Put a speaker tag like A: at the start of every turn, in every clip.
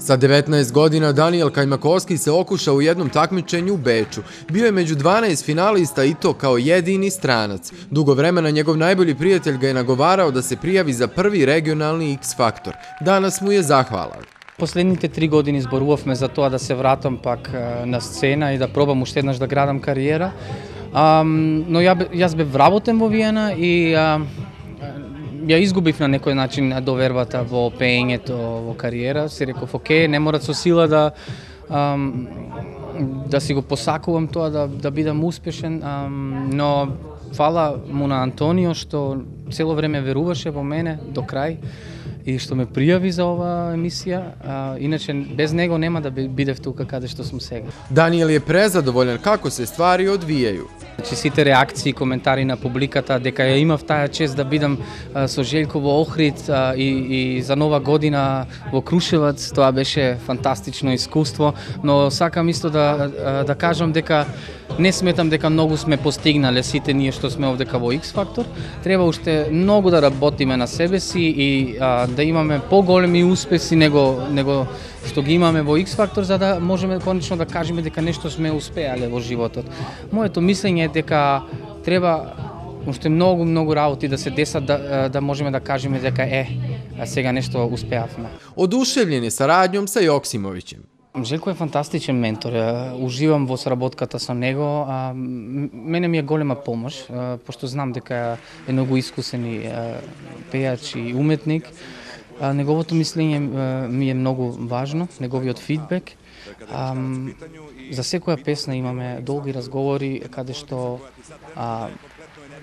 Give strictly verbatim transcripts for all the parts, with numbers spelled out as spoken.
A: Sa devetnaest godina Daniel Kajmakovski se okušao u jednom takmičenju u Beču. Bio je među dvanaest finalista i to kao jedini stranac. Dugo vremena njegov najbolji prijatelj ga je nagovarao da se prijavi za prvi regionalni X-faktor. Danas mu je zahvalan.
B: Последните три години зборувавме за тоа да се вратам пак на сцена и да пробам уште еднаш да градам кариера. Um, но ја, јас бев вработен во Виена и uh, ја изгубив на некој начин довербата во пеењето, во кариера. Си реков, окей, не мора со сила да um, да си го посакувам тоа, да, да бидам успешен, um, но фала му на Антонио што цело време веруваше во мене до крај и што ме пријави за оваа емисија, а, иначе без него нема да бидев тука каде што сум сега.
A: Даниел je презадоволен како се ствари одвијају.
B: Значи сите реакции и коментари на публиката дека ја имав таа чест да бидам а, со Желјко во Охрид а, и, и за нова година во Крушевац, тоа беше фантастично искуство, но сакам исто да а, да кажам дека не сметам дека многу сме постигнале сите ние што сме овдека во X-фактор. Треба уште многу да работиме на себе си и а, да имаме поголеми успеси него него што ги имаме во X-фактор, за да можеме конечно да кажеме дека нешто сме успеале во животот. Моето мислење е дека треба уште многу многу работи да се десат да да можеме да кажеме дека е сега нешто успеавме.
A: Одушевљен е сарадњом са Јоксимовиќем.
B: Желко е фантастичен ментор. Уживам во сработката со него. Мене ми е голема помош, пошто знам дека е многу искусен и пејач и уметник. Неговото мислење ми е многу важно, неговиот фидбек. За секоја песна имаме долги разговори каде што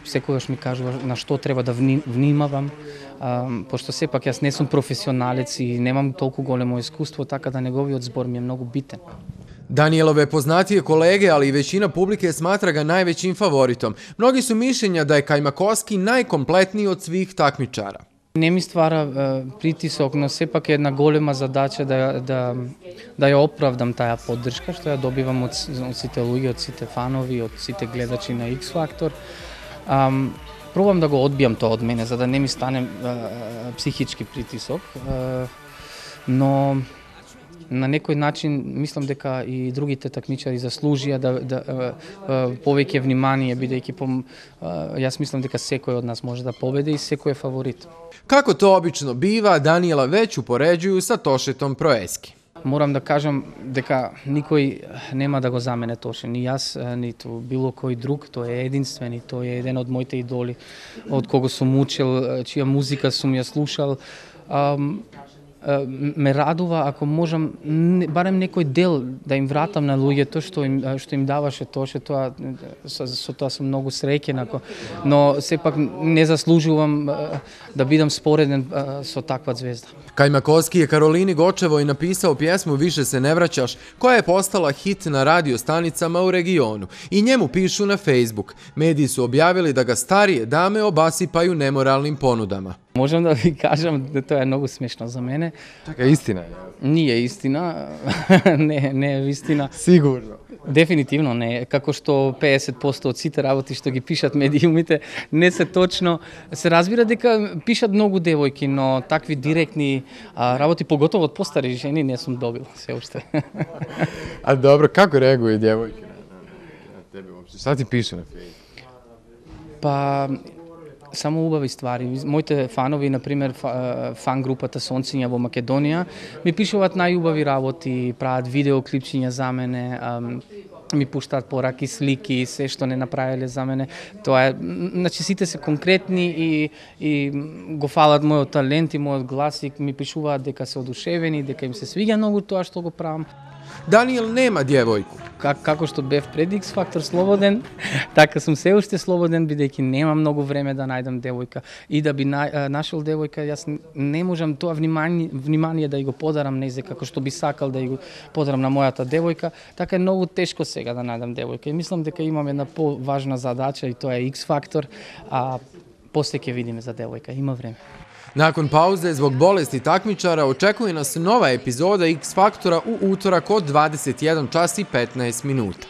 B: секогаш ми кажува на што треба да внимавам, пошто сепак јас не сум професионалец и немам толку големо искуство, така да неговиот збор ми е многу битен.
A: Danielove poznatije kolege, ali i većina publike smatra ga najvećim favoritom. Mnogi su mišljenja da je Kajmakovski najkompletniji od svih takmičara.
B: Не ми ствара е, притисок, но сепак е една голема задача да, да, да ја оправдам таа поддршка што ја добивам од, од сите луѓе, од сите фанови, од сите гледачи на X-фактор. Um, пробам да го одбијам тоа од мене, за да не ми стане uh, психички притисок, uh, но на некој начин мислам дека и другите такмичари заслужија да, да uh, uh, повеќе внимание, бидејќи по, uh, јас мислам дека секој од нас може да победи и секој е фаворит.
A: Како to obično biva, Daniela već upoređuju sa Tošetom Proeski.
B: Морам да кажам дека никој нема да го замене Тоше, ни јас, ниту било кој друг, тој е единствен и тој е еден од моите идоли, од кого сум учел, чија музика сум ја слушал. Um, ме радува ако можам барем некој дел да им вратам на луѓето што им што им даваше Тоше, тоа со, со тоа сум многу среќен, ако, но сепак не заслужувам да бидам спореден со таква звезда.
A: Kajmakovski je Karolini Gočevoj napisao pjesmu Više se ne vraćaš, koja je postala hit na radio stanicama u regionu. I njemu pišu na Facebook. Mediji su objavili da ga starije dame obasipaju nemoralnim ponudama.
B: Можам да ви кажам да тоа е многу смешно за мене.
A: Така е истина.
B: Не е истина, не, не е вистина.
A: Сигурно.
B: Дефинитивно не е. Како што педесет проценти од сите работи што ги пишат медиумите не се точно. Се разбира дека пишат многу девојки, но такви директни а, работи, поготово од постари жени, не сум добил се уште.
A: А добро, како реагуе девојки на тебе воопшто? Шта ти пише на Facebook?
B: Па само убави ствари. Моите фанови, например, фан групата Сонциња во Македонија, ми пишуваат најубави работи, прават видеоклипчиња за мене, ми пуштаат пораки, слики, се што не направиле за мене. Тоа е, значи сите се конкретни и, и го фалат мојот талент и мојот глас и ми пишуваат дека се одушевени, дека им се свиѓа многу тоа што го правам.
A: Daniel nema djevojku.
B: Как, како што бев пред X-фактор слободен, така сум се уште слободен, бидејќи нема многу време да најдам девојка. И да би на, нашол девојка, јас не можам тоа внимание, внимание да ја го подарам незе, како што би сакал да ја го подарам на мојата девојка. Така е многу тешко сега да најдам девојка. И мислам дека имам една поважна задача и тоа е X-фактор, а после ќе видиме за девојка, има време.
A: Nakon pauze zbog bolesti takmičara očekuje nas nova epizoda X-faktora u utorak od dvadeset jedan čas i petnaest minuta.